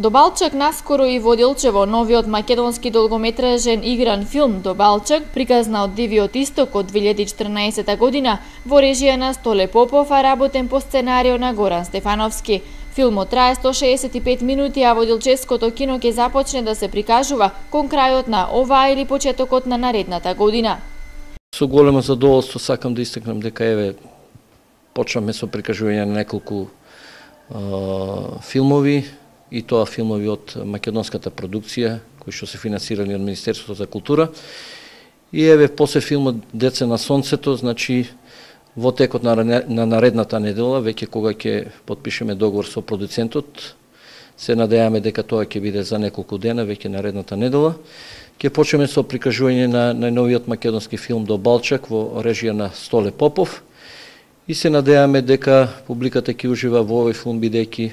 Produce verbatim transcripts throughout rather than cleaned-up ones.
До Балчак наскоро и во Делчево, новиот македонски долгометражен игран филм До Балчак, приказна од Дивиот исток од две илјади и четрнаесета година во режија на Столе Попов, а работен по сценарио на Горан Стефановски. Филмот трае сто шеесет и пет минути, а во Делчевското кино ќе започне да се прикажува кон крајот на оваа или почетокот на наредната година. Со големо задоволство сакам да истакнам дека еве почнаме со прикажување на неколку uh, филмови, и тоа филмови од македонската продукција, кои што се финансирани од Министерството за култура. И еве после филмот Деца на сонцето, значи во текот на, на наредната недела, веќе кога ќе потпишеме договор со продуцентот, се надејаме дека тоа ќе биде за неколку дена, веќе наредната недела. Ќе почнеме со прикажување на најновиот македонски филм До Балчак во режија на Столе Попов. И се надејаме дека публиката ќе ужива во овој филм, бидејќи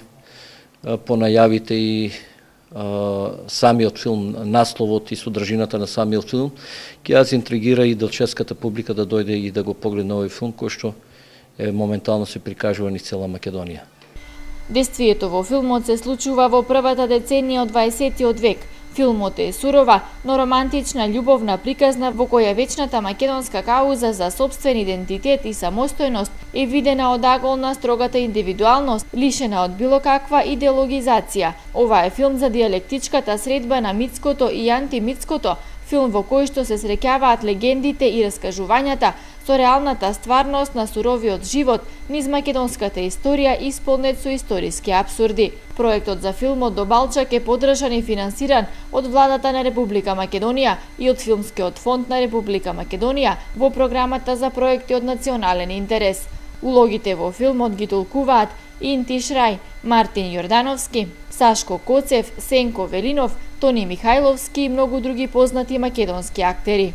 по најавите и а, самиот филм, насловот и содржината на самиот филм, ќе ја интригира и делчевската публика да дојде и да го погледне овој филм, кој што е моментално се прикажува низ цела Македонија. Действието во филмот се случува во првата деценија од дваесеттиот век. Филмот е сурова, но романтична љубовна приказна во која вечната македонска кауза за сопствен идентитет и самостојност е видена од агол на строгата индивидуалност, лишена од било каква идеологизација. Ова е филм за дијалектичката средба на митското и антимитското, филм во кој што се среќаваат легендите и раскажувањата со реалната стварност на суровиот живот низ македонската историја исполнет со историски апсурди. Проектот за филмот До Балчак е поддржан и финансиран од владата на Република Македонија и од Филмскиот фонд на Република Македонија во програмата за проекти од национален интерес. Улогите во филмот ги толкуваат Инти Шрај, Мартин Јордановски, Сашко Коцев, Сенко Велинов, Тони Михајловски и многу други познати македонски актери.